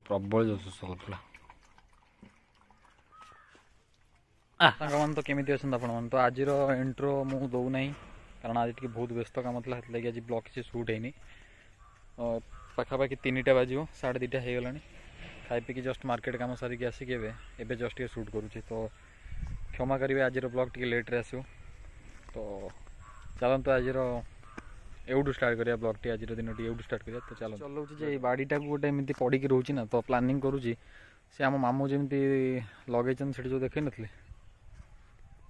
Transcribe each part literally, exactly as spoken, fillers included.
ପ୍ରବଳ ଜୋର ଶୋଷ କରୁଥିଲା। ସାଙ୍ଗମାନେ, ତ କେମିତି ଅଛନ୍ତି ଆପଣମାନେ? ତ ଆଜିର ଇଣ୍ଟ୍ରୋ ମୁଁ ଦେଉନାହିଁ, କାରଣ ଆଜି ଟିକେ ବହୁତ ବ୍ୟସ୍ତ କାମ ଥିଲା, ସେଥିଲାଗି ଆଜି ବ୍ଲଗ୍ କିଛି ସୁଟ୍ ହେଇନି। ପାଖାପାଖି ତିନିଟା ବାଜିବ, ସାଢ଼େ ଦୁଇଟା ହେଇଗଲାଣି। ଖାଇ ପିଇକି ଜଷ୍ଟ ମାର୍କେଟ କାମ ସାରିକି ଆସିକି ଏବେ ଏବେ ଜଷ୍ଟ ଟିକେ ସୁଟ୍ କରୁଛି। ତ କ୍ଷମା କରିବେ, ଆଜିର ବ୍ଲଗ୍ ଟିକେ ଲେଟ୍ରେ ଆସିବ। ତ ଚାଲନ୍ତୁ, ଆଜିର ଏଉଠୁ ଷ୍ଟାର୍ଟ କରିବା ବ୍ଲଗ୍ଟି, ଆଜିର ଦିନଟି ଏଉଠୁ ଷ୍ଟାର୍ଟ କରିବା। ତ ଚାଲନ୍ତୁ, ଚଲାଉଛି ଯେ ଏଇ ବାଡ଼ିଟାକୁ ଗୋଟେ ଏମିତି ପଡ଼ିକି ରହୁଛି ନା, ତ ପ୍ଲାନିଂ କରୁଛି ସେ ଆମ ମାମୁଁ ଯେମିତି ଲଗେଇଛନ୍ତି ସେଠି ଯେଉଁ ଦେଖେଇ ନଥିଲେ,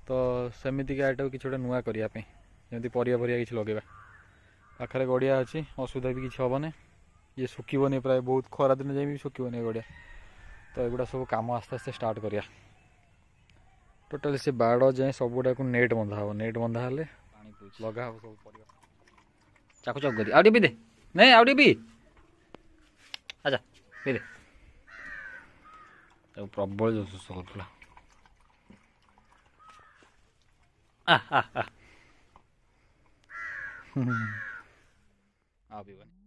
ତ ସେମିତିକା ଏଟାକୁ କିଛି ଗୋଟେ ନୂଆ କରିବା ପାଇଁ, ଯେମିତି ପରିବା ପରିବା କିଛି ଲଗେଇବା। ପାଖରେ ଗଡ଼ିଆ ଅଛି, ଅସୁବିଧା ବି କିଛି ହେବନି, ଇଏ ଶୁଖିବନି, ପ୍ରାୟ ବହୁତ ଖରା ଦିନ ଯାଇ ବି ଶୁଖିବନି ଏ ଗଡ଼ିଆ। ତ ଏଗୁଡ଼ା ସବୁ କାମ ଆସ୍ତେ ଆସ୍ତେ ଷ୍ଟାର୍ଟ କରିବା। ଟୋଟାଲି ସେ ବାଡ଼ ଯାଏଁ ସବୁଗୁଡ଼ାକୁ ନେଟ୍ ବନ୍ଧା ହେବ, ନେଟ୍ ବନ୍ଧା ହେଲେ ଲଗା ହେବ ସବୁ ପରିବା। ଚାକୁ ଚାକୁ କରି ଆଉ ଟିକେ ପିଇ ଦେ। ନାଇଁ, ଆଉ ଟିକେ ପିଇ। ଆଚ୍ଛା, ପିଇ ଦେ। ତାକୁ ପ୍ରବଳ ଜୋର ଶୋଷ କରୁଥିଲା। ଆ ଆ ଆ, ଆଉ ପିଇବନି।